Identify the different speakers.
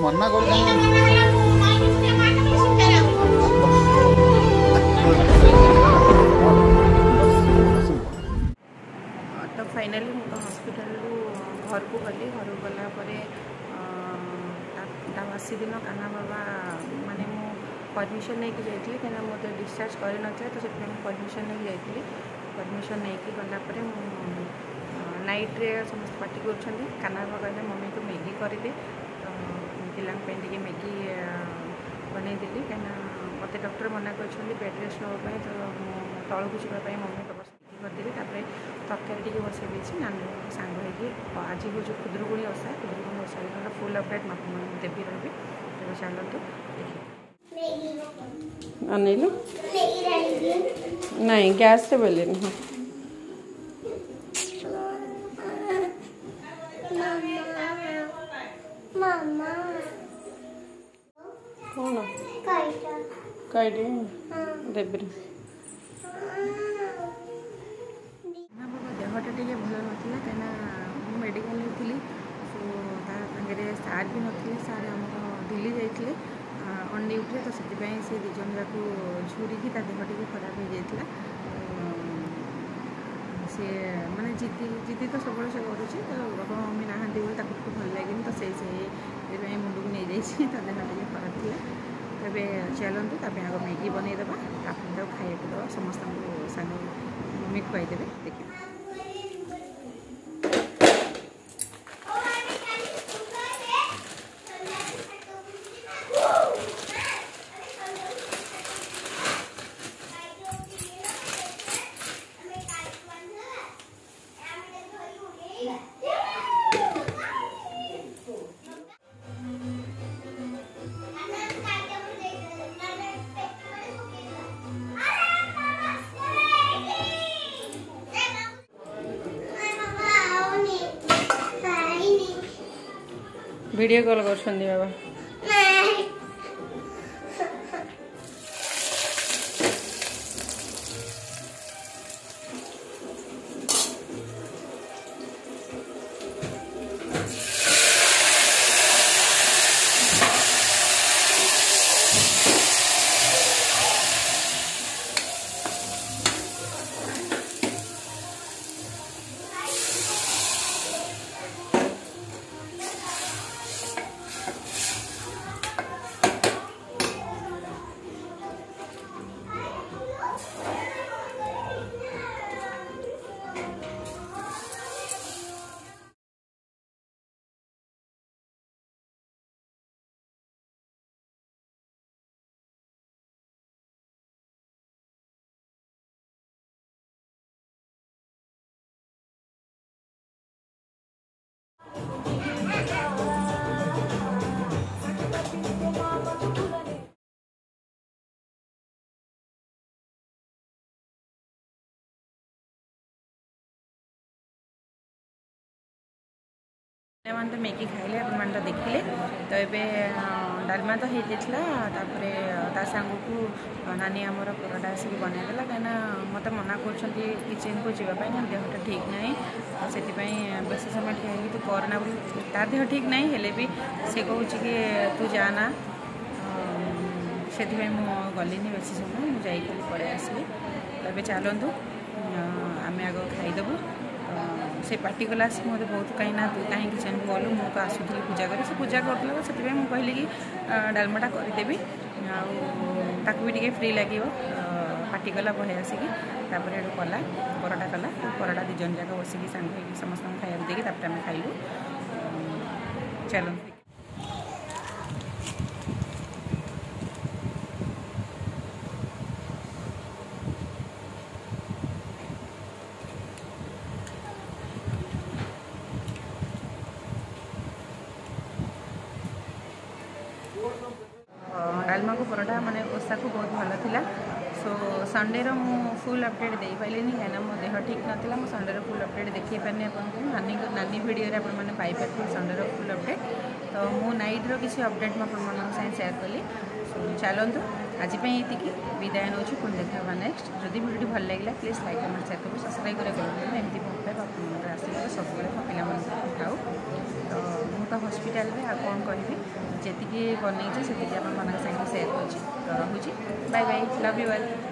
Speaker 1: ମନା କରୁ।
Speaker 2: ତ ଫାଇନାଲି ମୁଁ ତ ହସ୍ପିଟାଲରୁ ଘରକୁ ଗଲି। ଘରକୁ ଗଲା ପରେ ତା ବାସି ଦିନ କାହ୍ନା ବାବା, ମାନେ ମୁଁ ପରମିସନ୍ ନେଇକି ଯାଇଥିଲି, କାହିଁକିନା ମୋତେ ଡିସଚାର୍ଜ କରିନଥିଲେ, ତ ସେଥିପାଇଁ ମୁଁ ପରମିସନ୍ ନେଇକି ଯାଇଥିଲି। ପରମିସନ୍ ନେଇକି ଗଲା ପରେ ମୁଁ ନାଇଟ୍ରେ ସମସ୍ତେ ପାଟି କରୁଛନ୍ତି। କାହ୍ନା ବାବା କହିଲେ, ମମି ତୁ ମ୍ୟାଗି କରିଦେ। ତ ପିଲାଙ୍କ ପାଇଁ ଟିକେ ମ୍ୟାଗି ବନେଇଦେଲି, କାହିଁକିନା ମୋତେ ଡକ୍ଟର ମନା କରିଛନ୍ତି ବେଡ଼୍ ରେଷ୍ଟ ନେବା ପାଇଁ, ତ ମୁଁ ତଳକୁ ଯିବା ପାଇଁ ମମି ବାବା ମ୍ୟାଗି କରିଦେଲି। ତାପରେ ତରକାରୀ ଟିକେ ବସେଇ ଦେଇଛି। ନାନୀ ସାଙ୍ଗ ହେଇକି ଆଜି ହେଉଛି ଖୁଦୁରୁକୁଣୀ ଓଷା। ଖୁଦୁରୁକୁଣୀ ଓଷା ଦିନର ଫୁଲ୍ ଅପଡ଼େଟ୍ ମୁଁ ଆପଣମାନଙ୍କୁ ଦେବି ରହିବି। ତେବେ ଚାଲନ୍ତୁ ଦେଖିବା। ଅନେଇଲୁ ନାଇଁ, ଗ୍ୟାସ୍ରେ ବେଲିନି। ହଁ, କ'ଣ କାଇଟି ଦେବିରେ। ବାବା ଦେହଟା ଟିକେ ଭଲ ନଥିଲା, କାହିଁକିନା ମୁଁ ମେଡ଼ିକାଲରେ ଥିଲି। ସୋ ତା ସାଙ୍ଗରେ ସାର୍ ବି ନଥିଲେ। ସାର୍ ଆମର ଦିଲ୍ଲୀ ଯାଇଥିଲେ ଅନ୍ ଡ୍ୟୁଟିରେ, ତ ସେଥିପାଇଁ ସେ ଦୁଇ ଜଣ ଯାକୁ ଝୁରିକି ତା ଦେହ ଟିକେ ଖରାପ ହେଇଯାଇଥିଲା। ସେ ମାନେ ଜିଦି ଜିଦି ତ ସବୁବେଳେ ସେ କରୁଛି, ତ ବାପା ମମି ନାହାନ୍ତି ବୋଲି ତାକୁ ଟିକେ ଭଲ ଲାଗେନି, ତ ସେଇ ସେଇଥିପାଇଁ ମୁଣ୍ଡକୁ ନେଇଯାଇଛି। ତା ଦେହ ଟିକେ ଖରାପ ଥିଲା। ତେବେ ଚାଲନ୍ତୁ, ତା ପାଇଁ ଆଗ ମ୍ୟାଗି ବନେଇଦେବା, ତାପରେ ତାକୁ ଖାଇବାକୁ ଦେବା ସମସ୍ତଙ୍କୁ, ସାଙ୍ଗ ମମି ଖୁଆଇଦେବେ, ଦେଖିବା। ଭିଡ଼ିଓ କଲ୍ କରୁଛନ୍ତି ବାବା। ପିଲାମାନେ ତ ମ୍ୟାଗି ଖାଇଲେ, ଆପଣମାନେ ତ ଦେଖିଲେ। ତ ଏବେ ଡାଲମା ତ ହେଇଯାଇଥିଲା, ତାପରେ ତା ସାଙ୍ଗକୁ ନାନୀ ଆମର ପରଟା ଆସିକି ବନେଇଦେଲା, କାହିଁକିନା ମୋତେ ମନା କରୁଛନ୍ତି କିଚେନ୍କୁ ଯିବା ପାଇଁ, କାରଣ ଦେହଟା ଠିକ୍ ନାହିଁ, ତ ସେଥିପାଇଁ ବେଶୀ ସମୟ ଠିଆ ହେଇକି ତୁ କରନା ବୋଲି। ତା ଦେହ ଠିକ୍ ନାହିଁ ହେଲେ ବି ସେ କହୁଛି କି ତୁ ଯାଆନା, ସେଥିପାଇଁ ମୁଁ ଗଲିନି ବେଶୀ ସମୟ, ମୁଁ ଯାଇକି ଖାଲି ପଳେଇ ଆସିଲି। ତ ଏବେ ଚାଲନ୍ତୁ, ଆମେ ଆଗ ଖାଇଦେବୁ। ସେ ପାଟି କଲା ଆସିକି ମୋତେ ବହୁତ, କାହିଁକି ନା ତୁ କାହିଁ କିଚେନ୍କୁ ଗଲୁ, ମୁଁ ତ ଆସୁଥିଲି ପୂଜା କରି। ସେ ପୂଜା କରୁଥିଲା, ତ ସେଥିପାଇଁ ମୁଁ କହିଲି କି ଡାଲମାଟା କରିଦେବି ଆଉ ତାକୁ ବି ଟିକେ ଫ୍ରି ଲାଗିବ। ପାଟି କଲା ବହେ ଆସିକି। ତାପରେ ଏଠୁ କଲା, ପରଟା କଲା। ପରଟା ଦୁଇ ଜଣ ଯାକ ବସିକି ସାଙ୍ଗ ହେଇକି ସମସ୍ତଙ୍କୁ ଖାଇବାକୁ ଦେଇକି ତାପରେ ଆମେ ଖାଇଲୁ। ଚାଲନ୍ତୁ। ଡାଲମାକୁ ପରଟା ମାନେ ଓଷାକୁ ବହୁତ ଭଲ ଥିଲା। ସୋ ସଣ୍ଡେର ମୁଁ ଫୁଲ୍ ଅପଡ଼େଟ୍ ଦେଇପାରିଲିନି, କାହିଁକିନା ମୋ ଦେହ ଠିକ୍ ନଥିଲା। ମୁଁ ସଣ୍ଡେର ଫୁଲ୍ ଅପଡ଼େଟ୍ ଦେଖାଇ ପାରିନି ଆପଣଙ୍କୁ। ନାନୀ ଭିଡ଼ିଓରେ ଆପଣମାନେ ପାଇପାରିଥିବେ ସଣ୍ଡେର ଫୁଲ୍ ଅପଡ଼େଟ୍। ତ ମୁଁ ନାଇଟ୍ର କିଛି ଅପଡ଼େଟ୍ ମୁଁ ଆପଣମାନଙ୍କ ସାଙ୍ଗେ ସେୟାର କଲି। ଚାଲନ୍ତୁ, ଆଜି ପାଇଁ ଏତିକି, ବିଦାୟ ନେଉଛି। ପୁଣି ଦେଖା ହେବା ନେକ୍ସଟ। ଯଦି ଭିଡ଼ିଓଟି ଭଲ ଲାଗିଲା, ପ୍ଲିଜ୍ ଲାଇକ୍, କମେଣ୍ଟ, ସେୟାର କରିବେ, ସବସ୍କ୍ରାଇବ୍ କରିବାକୁ। ଏମିତି ଭଲ ପାଇବା, ଆପଣଙ୍କର ଆଶୀର୍ବାଦ ସବୁବେଳେ ମୋ ପିଲାମାନଙ୍କ ଥାଉ। ତ ମୁଁ ତ ହସ୍ପିଟାଲରେ, ଆଉ କ'ଣ କହିବି? ଯେତିକି ବନେଇଛି ସେତିକି ଆପଣମାନଙ୍କ ସାଙ୍ଗରେ ସେୟାର କରୁଛି। ତ ରହୁଛି, bye bye, love you all.